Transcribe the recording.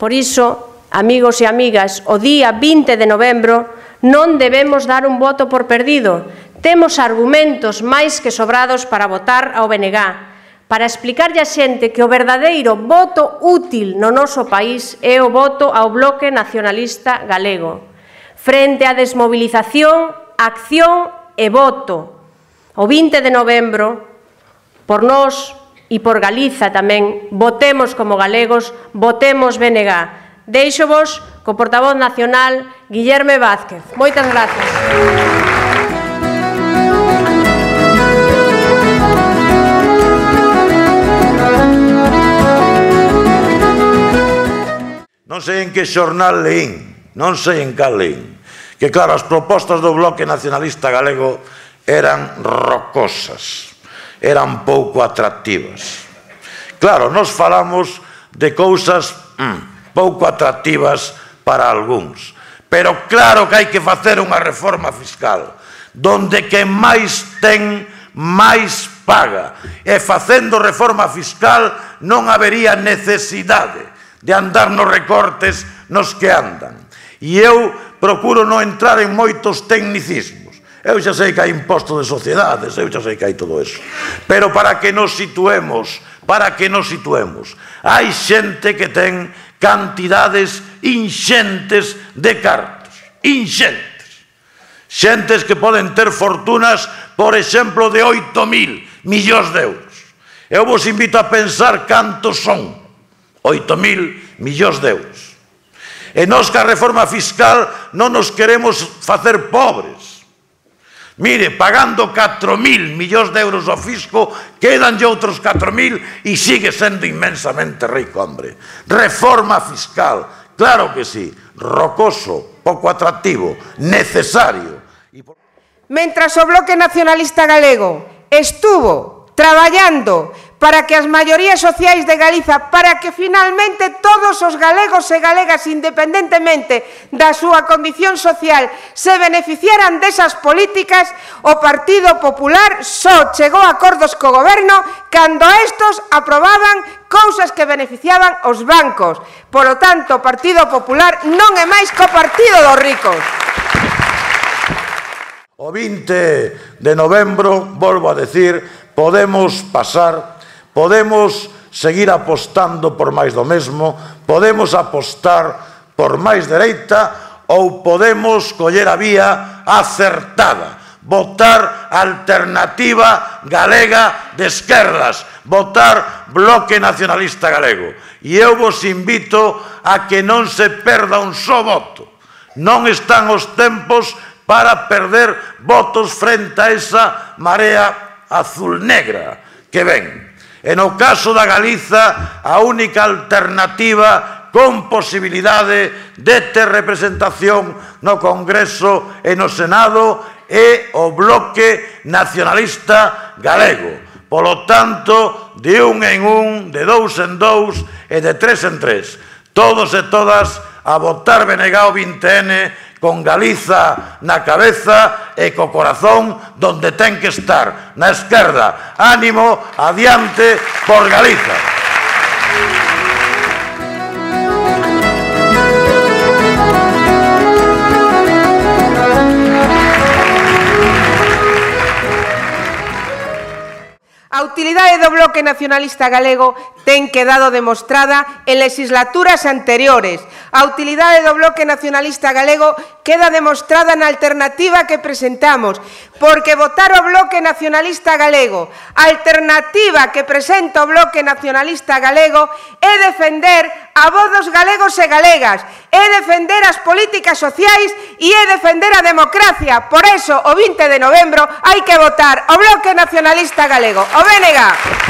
Por iso, amigos e amigas, o día 20 de novembro non debemos dar un voto por perdido. Temos argumentos máis que sobrados para votar ao BNG, para explicarlle a xente que o verdadeiro voto útil no noso país é o voto ao Bloque Nacionalista Galego. Frente á desmobilización, acción e voto. O 20 de novembro, por nós e por Galiza tamén, votemos como galegos, votemos BNG. Deixo-vos co portavoz nacional, Guillerme Vázquez. Moitas grazas. Non sei en que xornal leín, non sei en cal leín, que claro, as propostas do Bloque Nacionalista Galego eran rocosas, eran pouco atractivas. Claro, nos falamos de cousas pouco atractivas para algúns, pero claro que hai que facer unha reforma fiscal, donde quen máis ten, máis paga, e facendo reforma fiscal non habería necesidade de andar nos recortes nos que andan. E eu procuro non entrar en moitos tecnicismos. Eu xa sei que hai imposto de sociedades, eu xa sei que hai todo eso. Pero para que nos situemos, hai xente que ten cantidades inxentes de cartos, inxentes. Xentes que poden ter fortunas, por exemplo, de 8.000 millóns de euros. Eu vos invito a pensar cantos son 8.000 millóns de euros. E nós que a reforma fiscal non nos queremos facer pobres. Mire, pagando 4.000 millóns de euros ao fisco, quedanlle outros 4.000 e sigue sendo inmensamente rico, hombre. Reforma fiscal, claro que sí, rocoso, pouco atractivo, necesario. Mentras o Bloque Nacionalista Galego estuvo traballando para que as maiorías sociais de Galiza, para que finalmente todos os galegos e galegas, independentemente da súa condición social, se beneficiaran desas políticas, o Partido Popular só chegou a acordos co goberno cando estos aprobaban cousas que beneficiaban os bancos. Polo tanto, o Partido Popular non é máis que o partido dos ricos. O 20 de novembro, volvo a decir, podemos pasar, podemos seguir apostando por máis do mesmo, podemos apostar por máis dereita ou podemos coller a vía acertada, votar Alternativa Galega de Esquerdas, votar Bloque Nacionalista Galego. E eu vos invito a que non se perda un só voto. Non están os tempos para perder votos frente a esa marea azul-negra que ven. E no caso da Galiza, a única alternativa con posibilidade de ter representación no Congreso e no Senado é o Bloque Nacionalista Galego. Polo tanto, de un en un, de dous en dous e de tres en tres, todos e todas a votar BNG o 20N con Galiza na cabeza e co corazón donde ten que estar, na esquerda. Ánimo, adiante por Galiza. A utilidade do Bloque Nacionalista Galego ten quedado demostrada en legislaturas anteriores. A utilidade do Bloque Nacionalista Galego queda demostrada na alternativa que presentamos, porque votar o Bloque Nacionalista Galego, a alternativa que presenta o Bloque Nacionalista Galego, é defender a voz dos galegos e galegas, é defender as políticas sociais e é defender a democracia. Por eso, o 20 de novembro, hai que votar o Bloque Nacionalista Galego, o BNG.